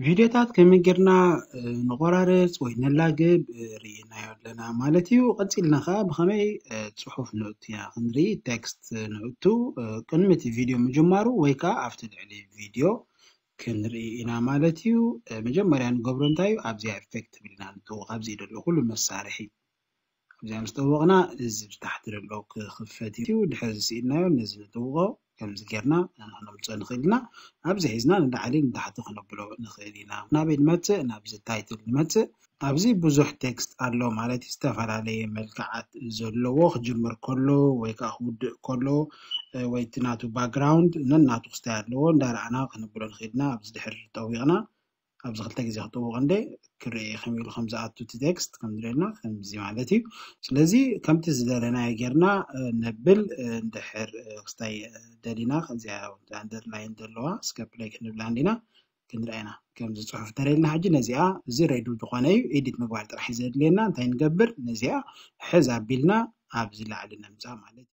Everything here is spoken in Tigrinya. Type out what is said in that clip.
ቪድዮታት ከመይ ጌርና ንቆራርፅ ወይ ነላግብ ርኢናዮ ኣለና ማለት እዩ። ቀፂልና ከዓ ብከመይ ፅሑፍ ንእቱ ኢና ክንርኢ፣ ቴክስት ንእቱ። ቅድሚ እቲ ቪድዮ ምጅማሩ ወይ ከዓ ኣብቲ ልዕሊ ቪድዮ ክንርኢ ኢና ማለት እዩ። መጀመርያ ንገብሮ እንታይ እዩ? ኣብዚኣ ኢፌክት ትብል ኢና ንጥውቕ። ኣብዚ ደሎ ኩሉ መሳርሒ ኣብዚኣ ምስ ጠወቕና እዚ ብታሕቲ ዘሎ ክኽፈት እዩ። ድሕሪ ዝስኢልናዮ ነዚ ንጥውቖ። ከምዚ ጌርና ክነምፅኦ ንኽእል ኢና። ኣብዚ ሒዝና ንላዕሊ ንታሕቲ ክነብሎ ንኽእል ኢና። ናበይ ንመፅእ? ናብዚ ታይትል ንመፅእ። ኣብዚ ብዙሕ ቴክስት ኣሎ ማለት እዩ። ዝተፈላለየ መልክዓት ዘለዎ ክጅምር ከሎ ወይ ከዓ ክውድእ ከሎ ወይ እቲ ናቱ ባክግራውንድ ነናቱ ክስታይ ኣለዎ። እንዳረኣና ክነብሎ ንኽእል ኢና። ኣብዚ ድሕር ጠዊቕና ኣብዚ ክልተ ግዜ ክጥውቕ እንደ ክርኢ ከም ኢሉ ከም ዝኣቱ እቲ ቴክስት ከም ዝረልና ከምዚ ማለት እዩ። ስለዚ ከምቲ ዝደለናዮ ጌርና ነብል። እንድሕር ክስታይ ደሊና ከዚኣ ኣንደርላይን ዘለዋ እስከ ፕለይ ክንብላ እንዲና ክንርኣና ከምዚ ፅሑፍ ተረልና። ሕጂ ነዚኣ እዚ ሬዱ ዝኾነ እዩ ኤዲት ምግባር ጥራሕ እዩ ዘድልየና። እንታይ ንገብር? ነዚኣ ሕዝ ኣቢልና ኣብዚ ላዕሊ ነምፃ ማለት እዩ።